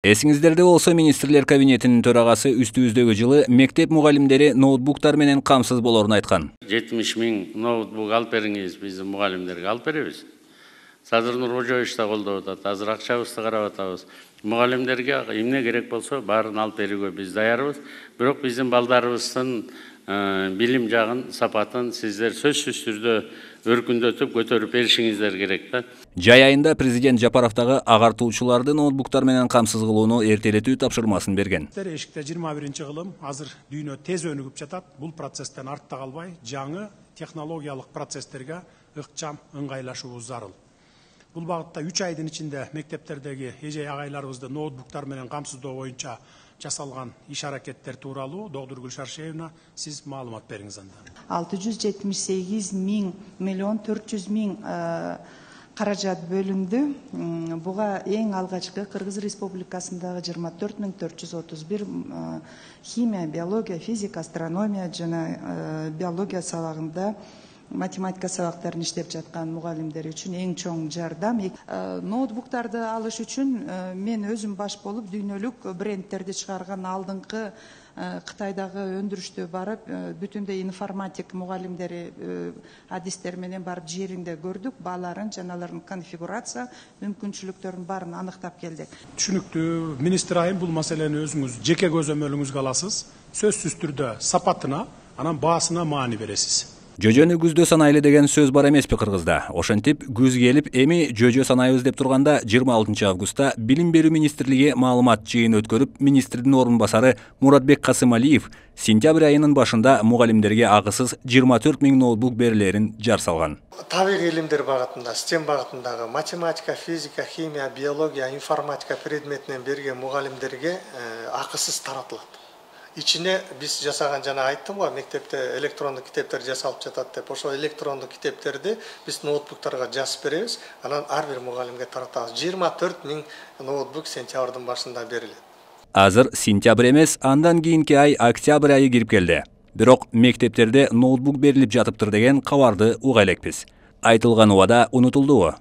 Эсиңиздерде болсо, министрлер кабинетинин төрагасы үстүбүздөгү жылы мектеп мугалимдери ноутбуктар менен камсыз болорун айткан. 70 000 ноутбук алып бериңиз, биздин мугалимдерге алып беребиз. Садыр Нуркожоевич да колдоп атат, азыр акчабызды карап атабыз. Мугалимдерге эмне керек болсо баарын алып берүүгө биз даярбыз. Бирок биздин балдарыбыздын билим жагын, сапатын сиздер сөзсүз түрдө өркүндөтүп, көтөрүп беришиңиздер керек да. Жай айында президент Жапаровдагы агартуучуларды ноутбуктар менен камсыз кылууну эртелетүү тапшырмасын берген. Эшикте 21-кылым азыр дүйнө тез өнүгүп жатат. Бул процесстен артта калбай, жаңы технологиялык процесстерге ыкчам ыңгайлашуубуз зарыл. Бул багытта 3 айдын ичинде мектептердеги эже агайларыбызды ноутбуктар менен камсыздоо боюнча жасалган иш-аракеттер тууралуу доктор Гүлшар Шеевна сиз маалымат бериңиз анда. 678 миллион 400 000 каражат бөлүндү. Буга эң алгачкы Кыргыз Республикасындагы 24 431 химия, биология, физика, астрономия жана биология сабагында математика сабактарын иштеп жаткан мугалимдер үчүн эң чоң жардам. Ноутбуктарды алыш үчүн мен өзүм баш болуп дүйнөлүк брендтерди чыгарган алдыңкы Кытайдагы өндүрүштө барып, бүтүндөй информатик мугалимдери адистер менен барып жеринде көрдүк, бааларын жана алардын конфигурация мүмкүнчүлүктөрүн баарын аныктап келдик. Түшүнүктүү, министр айым бул маселени өзүңүз жеке көзөмөлүңүзгө аласыз. Сөзсүз түрдө сапатына, анан баасына маани бересиз. Жөжөнү күздө санайлы деген сөз бар эмеспи Кыргызда. Ошентип, күз келип, эми жөжө санайбыз деп турганда 26 августта Билим берүү министрлиги маалымат жыйын өткөрүп, министрдин орун басары Муратбек Касымалиев сентябрь айынын башында мугалимдерге акысыз 24 000 ноутбук берилерин жар салган. Табигый илимдер багытында, STEM багытындагы математика, физика, химия, биология, информатика предметинен берген мугалимдерге акысыз таратылат. İçine biz жасаган жана айттым го, мектепте электрондук китептер жасалып жатат деп. Ошо электрондук китептерди биз ноутбуктарга жазып беребиз. Анан ар бир мугалимге таратабыз. 24 000 ноутбук сентябрдын башында берилет. Азыр сентябрь эмес, андан кийинки ай октябрь айы кирип келди. Бирок мектептерде ноутбук берилип жатыптыр деген кабарды уга элекпиз. Айтылган убада унутулдубу?